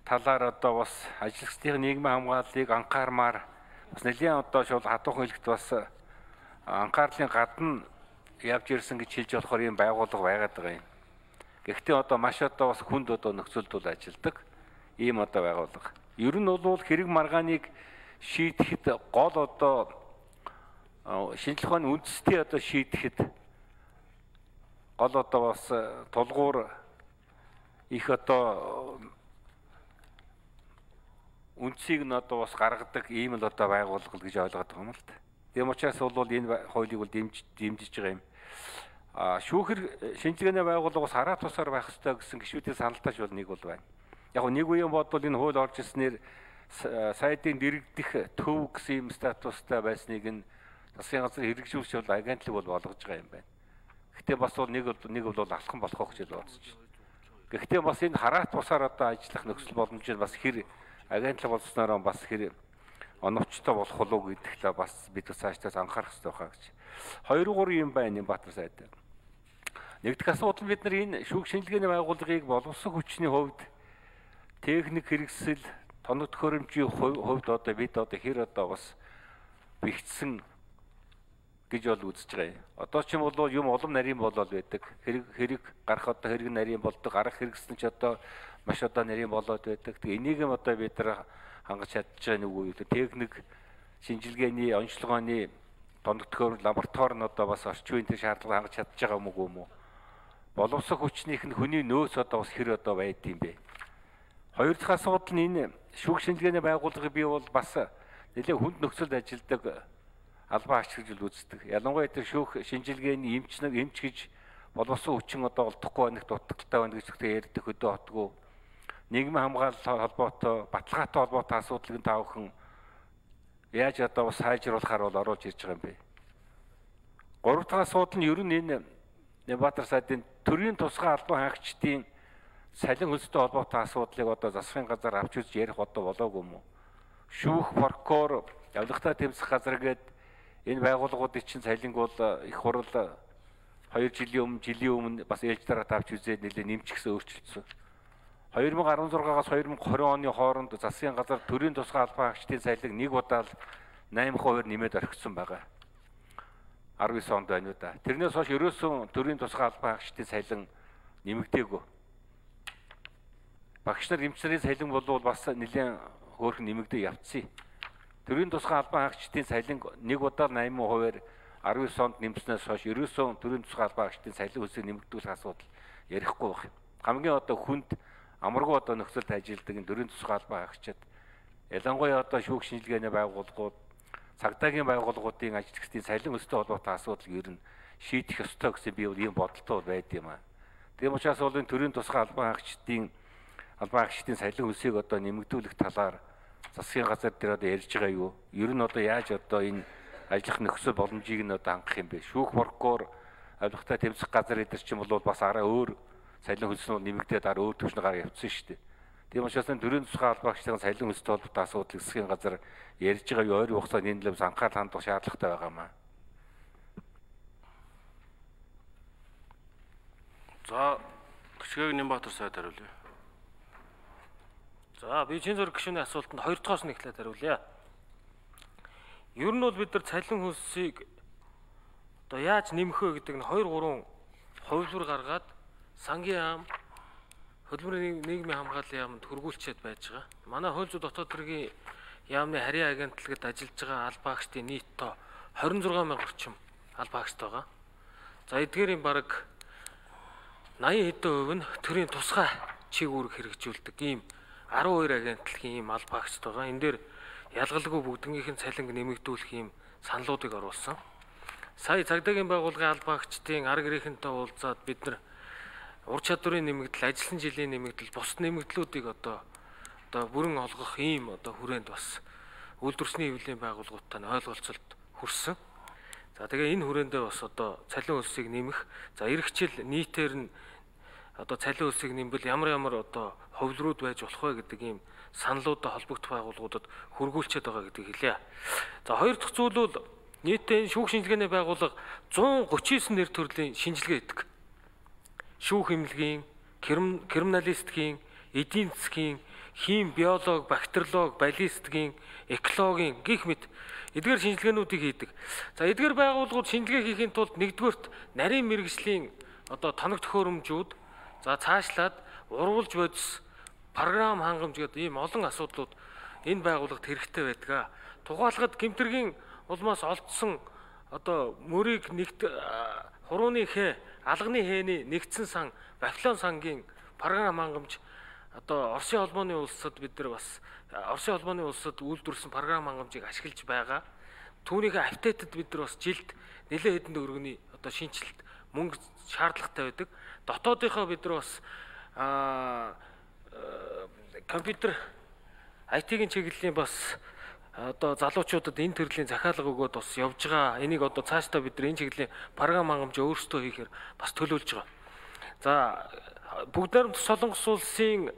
талаар одоо бас ажилчдын нийгмийн хамгааллыг анхаармаар бас нэлийн одоо шууд хатуухан хэлэхэд бас анхаарлын гадна явж ирсэн гэж хэлж болохоор ийм байгууллага байгаад байгаа юм. Гэхдээ одоо маш одоо бас хүнд одоо нөхцөлд бол ажилдаг ийм одоо байгууллага. Ер нь бол хэрэг маргааныг шийдэхэд гол одоо шинжлэх ухааны үндэстэй одоо шийдэхэд гол одоо бас тулгуур их одоо үндсийг нь одоо бас гаргадаг ийм л одоо байгууллага гэж ойлгоод байгаа юм л та. Тийм учраас бол энэ хуулийг бол дэмжиж байгаа юм. Шүүхэр шинжилгээний байгууллага бас хараа тусаар байх ёстой гэсэн гишүүдийн саналтаач бол нэг бол байна. Яг нэг үеийн бодвол энэ хууль орж ирснээр сайдын дэрэгдэх төв гэсэн юм статустай байсныг нь засгийн газар хэрэгжүүлж бол агентлаг бол болгож байгаа юм байна. Гэхдээ бас бол нэг бол алхам болох гэж бодож байна. Гэхдээ бас энэ хараат тусаар одоо ажиллах нөхцөл боломжийг бас хэр агентлаг болсноор бас хэр оновчтой болох уу гэдэгтээ бас бид цаашдаас анхаарах хэрэгтэй байгаа гэж. 2-3 юм байна энэ Баатар сайд. Нэгдүгээр асуудал бид нар энэ шүүх шинжилгээний байгууллагыг боловсон хүчний хувьд техник хэрэгсэл, тоног төхөөрөмжийн хувьд одоо бид одоо хэр одоо бас бэхжсэн гэж бол үзэж байгаа юм. Одоо ч юм бол юм улам нарийн болоод байдаг. Хэрэг гарах одоо хэрэг нарийн болдог, гарах хэрэгсэн ч одоо маш одоо нарийн болоод байдаг. Тэгээ энийг юм одоо бид нар хангаж чадж байгаа нэг үе. Техник шинжилгээний онцлогооны тоног төхөөрөмж лаборатори нь одоо бас орчин үеийн шаардлага хангаж чадж байгаа юм уу? Боловсон хүчнийх нь хүний нөөц одоо бас хэр одоо байд юм бэ? Хоёр дахь асуудал нь энэ шүүх шинжилгээний байгууллагыг би бол бас нэлээд хүнд нөхцөлд ажилладаг албан агч гэж үздэг. Ялангуяа тэр шүүх шинжилгээний эмч гэж боловсон хүчин одоо олдохгүй байх дутагдaltaй байна гэж ярьдаг хөдөө хотгүй. Нийгмийн хамгаалал холбоотой, баталгаатай холбоотой асуудлыг та бүхэн яаж одоо бас сайжруулахаар бол оруулж ирж байгаа юм бэ? Гурав дахь асуудал нь ер нь энэ Баатар сайдын төрийн тусгай албан хаагчдын салин хөлстэй холбоотой асуудлыг одоо засгийн газар авч үзэж ярих одоо болоогүй юм уу? Шүүх, прокурор, явлагтай тэмцэх газар гээд энэ байгууллагуудын чинь салинг бол их хурал 2 жилийн өмнө бас ээлж дараа тавьж үзээд нэлээд нэмчихсэн өөрчлөлтсөн. 2016-аас 2020 оны хооронд засгийн газар төрийн тусгай албан хаагчдын салинг нэг удаа л 8% нэмээд орхисон байгаа. 19 онд байна уу да. Тэрнээс хойш ерөөсөн төрийн тусгай албан хаагчдын салин нэмэгдээгүй. Багш нар эмч нарын салин бол бас нэлээд хөөрхөн нэмэгдээ явцсан. Төрийн тусгай албан хаагчдын салин нэг удаа 8%-аар 19 онд нэмснээс хойш ерөөсөн төрийн тусгай албан хаагчдын салин хөлсийг нэмэгдүүлэх асуудал ярихгүй байх. Хамгийн одоо хүнд амаргүй одоо нөхцөлд ажилладаг энэ төрийн тусгай албан хаагчид ялангуяа одоо шүүх шинжилгээний байгууллагууд, цагдаагийн байгууллагуудын ажилчдын салин өстэй холбоотой асуудал ер нь шийдэх ёстой гэсэн би бол ийм бодолтой байд юм аа. Тийм учраас бол энэ төрийн тусгай албан хаагчдын салин өсийг одоо нэмэгдүүлэх талаар засгийн газар дээр одоо ярьж байгаа юу? Ер нь одоо яаж одоо энэ ажиллах нөхцөл боломжийг нь одоо хангах юм бэ? Шүүх прокурор, авилгатай тэмцэх газар эдэр чинь бол бас арай өөр салин хөлснүүд нэмэгдээд өөр төвшнөөр явцсан шүү дээ. Тийм учраас төрийн тусгай албан хаагчдын салин хөлстэй холбоотой асуудлыг засгийн газар ярьж байгаа юу? Ойрын хугацаанд энэ лэмс анхаарал хандах шаардлагатай байгаа маа. За, гүшгээг Нямбатар сайд хариулъя. За, би чин зөрг гишүүний асуултанд 2 дахь нь эхлээд хариулъя. Ер нь бол бид нар цалин хөлсийг одоо яаж нэмэх вэ гэдэг нь 2-3 хувилбар гаргаад сангийн яам, хөдөлмөрийн нийгмийн хамгааллын яамд хөргүүлчихэд байж байгаа. Манай хууль зүйн дотоод хэргийн яамны харийн агентлагад ажиллаж байгаа албан хаагчдын нийт тоо 26,000 орчим албан хаагчтай байгаа. За, эдгээрийн бараг 80% нь төрийн тусгай чиг үүрэг хэрэгжүүлдэг ийм 12 агентлагийн ийм албан хаагчтай байгаа. Энэ дээр ялгалгүй бүгднийх нь цалинг нэмэгдүүлэх ийм саналуудыг оруулсан. Сая цагдаагийн байгууллагын албан хаагчдын арга ирээхэнтэй уулзаад бид нар ур чадварын нэмэгдэл, ажилласан жилийн нэмэгдэл, бус нэмэгдлүүдийг одоо бүрэн олгох ийм одоо хүрээнд бас үйлдвэрсний хэвлэлийн байгууллагуудтай ойлголцолд хүрсэн. За тэгээ энэ хүрээндээ бас одоо цалин хөлсийг нэмэх, за эх жил нийтээр нь одоо цалин хөлсийг нэмбэл ямар одоо хувилрууд байж болох вэ гэдэг ийм саналуудад холбогдох байгууллагуудад хөргүүлчихэд байгаа гэдгийг хэлье. За хоёр дахь зүйл бол нийтдээ шүүх шинжилгээний байгууллага 139 нэр төрлийн шинжилгээ хийдэг. Шүүх эмнэлгийн, криминалистикийн, эдийн засгийн, хим, биолог, бактериолог, баллистикийн, экологийн гих мэт эдгээр шинжилгээнүүдийг хийдэг. За эдгээр байгууллагууд шинжилгээ хийхийн тулд нэгдүгээрт нарийн мэрэгжлийн одоо тоног төхөөрөмжүүд за цаашлаад урвалж бодис програм хангамж гэдэг ийм олон асуудлууд энэ байгууллагад хэрэгтэй байдаг. Тухайлбал гэмтэргийн улмаас олдсон одоо мөрийг нэгт хурууны хэ, алганы хэний нэгдсэн сан, Вавилон сангийн програм хангамж одоо Оросын холбооны улсад бид нар бас Оросын холбооны улсад үйлдвэрлэсэн програм хангамжийг ашиглаж байгаа. Түүнийхээ апдейтэд бид нар бас жилд нэлээд хэдэн төгрөгийн одоо шинжилэлт мөнгө шаардлагатай байдаг. Дотоодынхоо бид нар бас компьютер IT-ийн чиглэлийн бас одоо залуучуудад энэ төрлийн захиалга өгөөд бас явж байгаа. Энийг одоо цаашдаа бид нар энэ чиглэлийн програм хангамж өөрсдөө хийхээр бас төлөвлөж байгаа. За бүгд найрамд Солонгос улсын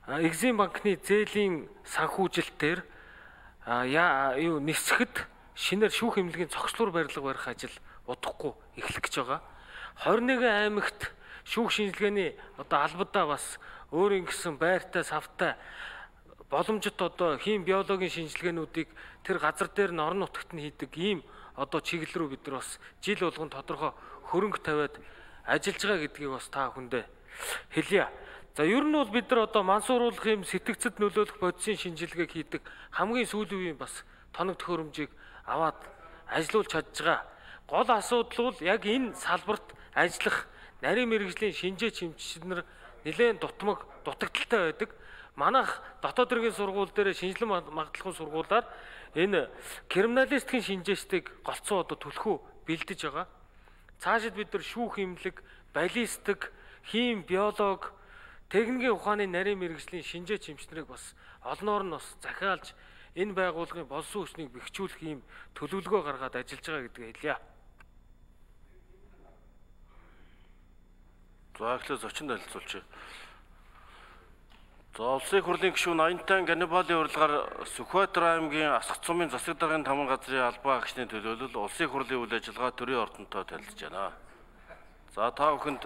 Экзим банкны зээлийн санхүүжилтээр нисэхэд шинээр шүүх эмнэлгийн цогцлуур барилга барих ажил удахгүй эхлэх гэж байгаа. 21 аймагт шүүх шинжилгээний одоо албадаа бас өөрийн гэсэн байртай, савтай боломжит одоо хим, биологийн шинжилгээнүүдийг тэр газар дээр нь орон нутагт нь хийдэг ийм одоо чиглэл рүү бид нар бас жил болгон тодорхой хөрөнгө тавиад ажиллаж байгаа гэдгийг бас та бүхэндээ хэлье. За ер нь бол бид нар одоо мансууруулах юм сэтгцэд нөлөөлөх бодисын шинжилгээг хийдэг хамгийн сүүлийн үеийн бас тоног төхөөрөмжийг аваад ажиллуулж чадж байгаа. Гол асуудал бол яг энэ салбарт ажиллах нарийн мэрэгжлийн шинжээ чимчид нар нэлээд дутагдaltaй байдаг. Манайх дотоод иргэн сургууль дээр шинжилэн магтлагын сургуулиар энэ криминалистикийн шинжээчдийг голцоо одоо түлхүү бэлдэж байгаа. Цаашид бид нар шүүх эмнэлэг, баллистик, хим, биолог, техникийн ухааны нарийн мэрэгжлийн шинжээ чимчнэрийг бас олноор нь бас захиалж энэ байгууллагын болсон хүчнийг бэхжүүлэх ийм төлөвлөгөө гаргаад ажиллаж байгаа гэдгийг хэлье. За эхлээд зочин танилцуулчих. За улсын хурлын гишүүн Аянтан Ганнибалын урилгаар Сүхбаатар аймгийн Асгах цумын засаг даргын таман газрын албан агчны төлөөлөл улсын хурлын үйл ажиллагаа төрийн ордонтой танилцж байна. За та бүхэнд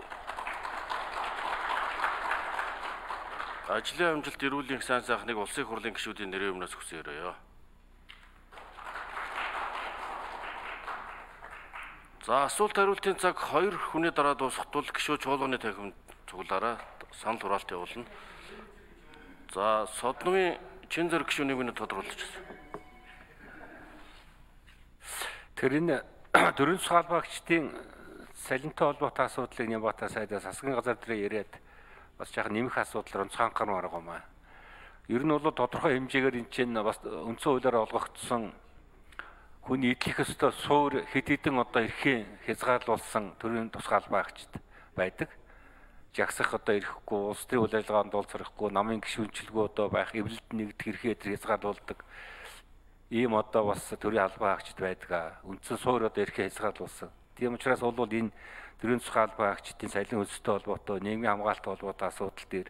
ажлын амжилт, эрүүл мэндийн сайн сайхныг улсын хурлын гишүүдийн нэрийн өмнөөс хүсээрэй. За асуулт хариултын цаг 2 хүний дараа дуусах тул гишүүд чуулганы танхимд цуглаараа санал хураалт явуулна. За Содномын чин зэрэг гишүүнийг минь тодруулж байна. Тэр энэ төрийн засаг албаагчдын салентой холбоотой асуудлыг Нямбата сайдаас засгийн газар дээр яриад бас жаахан нэмэх асуудлаар онцгой анхаарал гаргамаа. Ер нь бол тодорхой хэмжээгээр энэ чинь бас үндсэн хуулиар олгогдсон хүний эдлэх ёстой суур хэд хэдэн одоо эрхийн хязгаарлуулсан төрийн тусгай албаагчд байдаг. Жагсах одоо ирэхгүй, улс төрийн үйл ажиллагаанд уулзрахгүй, намын гишүүнчлэгөө одоо байх, эвлэлд нэгдэх эрхээ хязгаарлуулдаг. Ийм одоо бас төрийн албаагчд байдаг. Үндсэн суур одоо эрхээ хязгаарлуулсан. Тийм учраас бол энэ төрийн засгийн албаагчдын салин хөлстэй холбоотой, нийгмийн хамгаалалт холбоотой асуудал дээр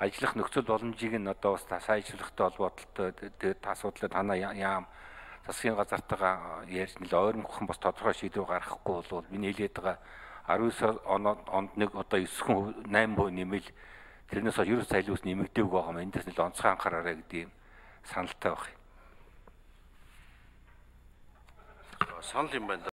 ажиллах нөхцөл боломжийг нь одоо бас сайжруулахтай холбоотой тэгээд асуудлыг танаа яам засгийн газартайгаа ярьж нэл ойрмохон бас тодорхой шийдвэр гаргахгүй бол миний хэлээд байгаа 19 онд нэг одоо 9% 8% нэмэл тэрнээс хойш ерөөс цайлуус нэмэгдээгүй байгаа юм. Эндээс нэл онцгой анхаараарай гэдэг юм саналтай байна. Санал юм байна.